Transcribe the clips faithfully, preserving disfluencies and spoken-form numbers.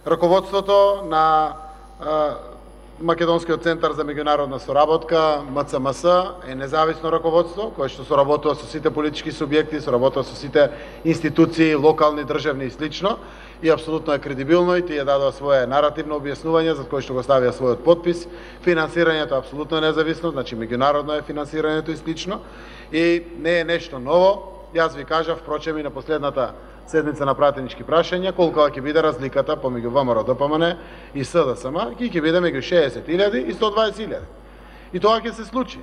раководството на Македонскиот центар за меѓународна соработка, М Ц М С, е независно раководство, кое што соработува со сите политички субјекти, соработува со сите институции, локални, државни и слично, и апсолутно е кредибилно и тие дадоа свое наративно објаснување за кој што го ставија својот подпис. Финансирањето е апсолутно независно, значи меѓународно е финансирањето и слично, и не е нешто ново. Јас ви кажав, впрочем, и на последната седница на пратенички прашања, колку ќе биде разликата помеѓу В М Р Д П М Н и С Д С М, ќе ќе биде меѓу шеесет илјади и сто дваесет илјади. И тоа ќе се случи.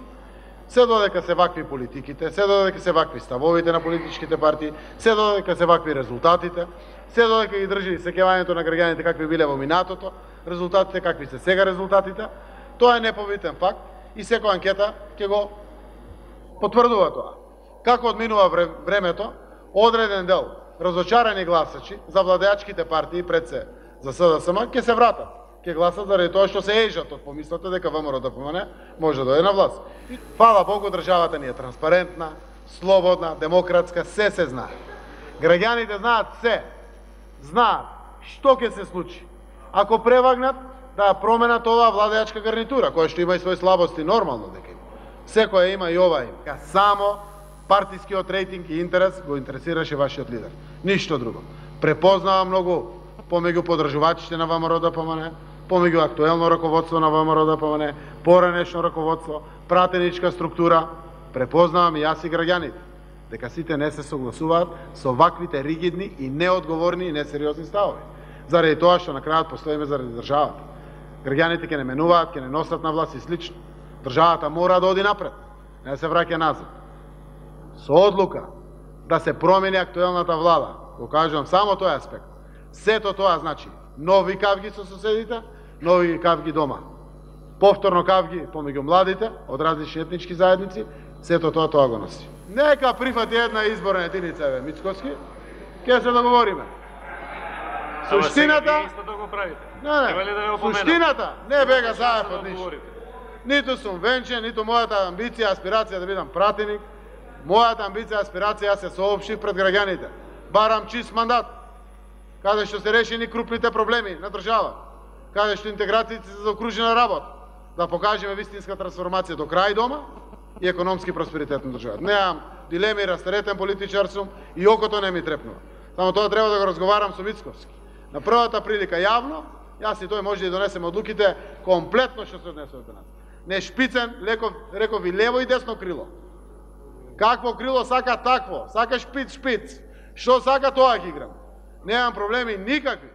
Се додека се вакви политиките, се додека се вакви ставовите на политичките партии, се додека се вакви резултатите, се додека ги држи сеќавањето на граѓаните какви биле во минатото, резултатите какви се сега резултатите, тоа е непобитен факт и секоја анкета ќе го потврдува тоа. Како одминува времето, одреден дел разочарани гласачи за владеачките партии пред се за С Д С М ќе се вратат, ќе гласат заради тоа што се ежат од помислата дека В М Р Д П М Н може да дојде на власт. Фала Богу, државата ни е транспарентна, слободна, демократска, се се знае. Граѓаните знаат се, знаат што ќе се случи ако превагнат да променат оваа владеачка гарнитура, која што има и своји слабости, нормално дека има. Секоја има и ова има. Само партискиот рейтинг и интерес го интересираше вашиот лидер. Ништо друго. Препознава многу помеѓу подржувачите на В М Р Д П М Н, помеѓу актуелно раководство на В М Р Д П М Н, поранешно раководство, пратеничка структура. Препознавам и јас и граѓаните дека сите не се согласуваат со ваквите ригидни и неодговорни и несериозни ставови. Заради тоа што на крајот постоиме заради државата. Граѓаните ќе не менуваат, ќе не носат на власт и слично. Државата мора да оди напред, не се враќа назад. Со одлука да се промени актуелната влада, го кажувам само тој аспект, сето тоа значи нови кавги со соседите, нови кавги дома, повторно кавги помеѓу младите од различни етнички заедници, сето тоа тоа го носи. Нека прифати една изборна единица, бе, Мицкоски, ќе се договориме. Суштината... Не, не, суштината не бега заев од ништо. Ниту сум венчен, ниту мојата амбиција, аспирација да бидам пратеник. Мојата амбиција, аспирација, јас се соопштив пред граѓаните. Барам чист мандат, каде што се решени крупните проблеми на држава, каде што интеграцијата се заокружена работа, да покажеме вистинска трансформација до крај дома и економски просперитет на државата. Неам дилеми, растаретен политичар сум и окото не ми трепнува. Само тоа треба да го разговарам со Мицковски. На првата прилика јавно, јас и тој може да донесеме одлуките комплетно што се однесува до нас. Не шпицен, леков, реков и лево и десно крило. Какво крило сака такво, сака шпиц, шпиц. Што сака тоа ќе играм. Немам проблеми никакви.